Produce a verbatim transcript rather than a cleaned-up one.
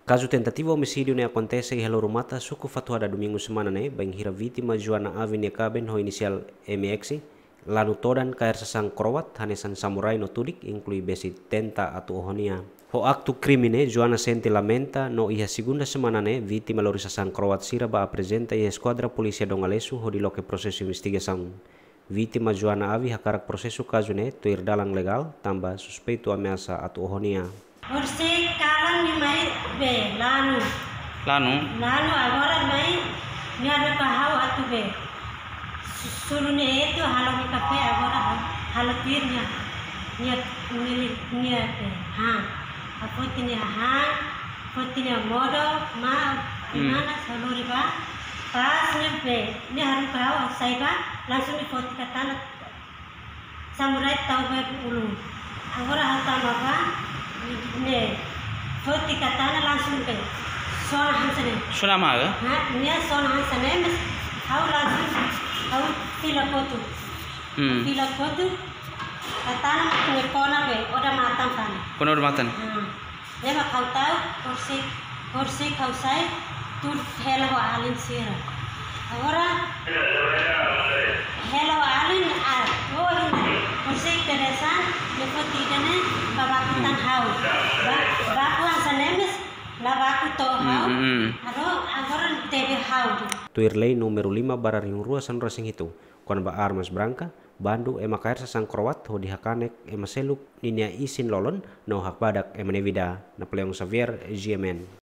Kazu tentativa omisídiu ne'e akontese iha Lorumata, suku Fatuhada, Domingu semana ne'e, bainhira vítima Joana Avi nia kaben ho inisiál M X, lanu todan kaer sasán kroat hanesan samurai no tudik, inklui besi tenta atu oho nia. Ho aktu krime ne'e, Joana sente lamenta no iha segunda semana ne'e, vítima lori sasán kroat sira ba aprezenta iha Eskuadra Polísia Dongalesu hodi loke prosesu investigasaun. Vítima Joana Avi hakarak prosesu kazu ne'e tuir dalan legál, tanba suspeitu ameasa atu oho nia. Horisehik kalan nia mai bee, lanu. Lanu? Lanu, agora mai, nia haruka ha'u atu bee. Su-, suru nia etu, halo nia kafé, agora ha-, halo tuir nia. Nia, nia, nia bee. Ha. Ha'u foti nia han, foti nia modo, ma, Hmm. mana, salori ba. Pas nia bee, nia haruka ha'u sai ba, langsung nia foti katana. Samurai tau bee ulun. Agora ha'u tama ba, nia foti katana langsung bee. Sona hanesan ne'e. Sona ma, eh? Ha, nia sona hanesan ne'e, mas ha'u langsung, ha'u fila kotuk. Hmm. Fila kotuk, katana mak nia kona bee, odamatan fali. Kona odamatan? Hmm. Ne'e mak ha'u tau, horisehik, horisehik ha'u sai, tuur hela ho alin sira. Agora, hela ho alin, ah, oh, ina, horisehik peresan, nia foti ida-ne'e, ba baku tan ha'u. Ba, baku hanesan ne'e mós, la baku to'o ha'u. Hmm, hmm, hmm. Ado, agora tebe ha'u. Tuir lei númeru lima barra rihun rua sanulu-resin-hitu, kona-ba armas branka, bandu ema kaer sasán kroat hodi hakanek ema seluk ninia isin-lolon no hakbadak ema nia vida. Napoleão Xavier, G M N.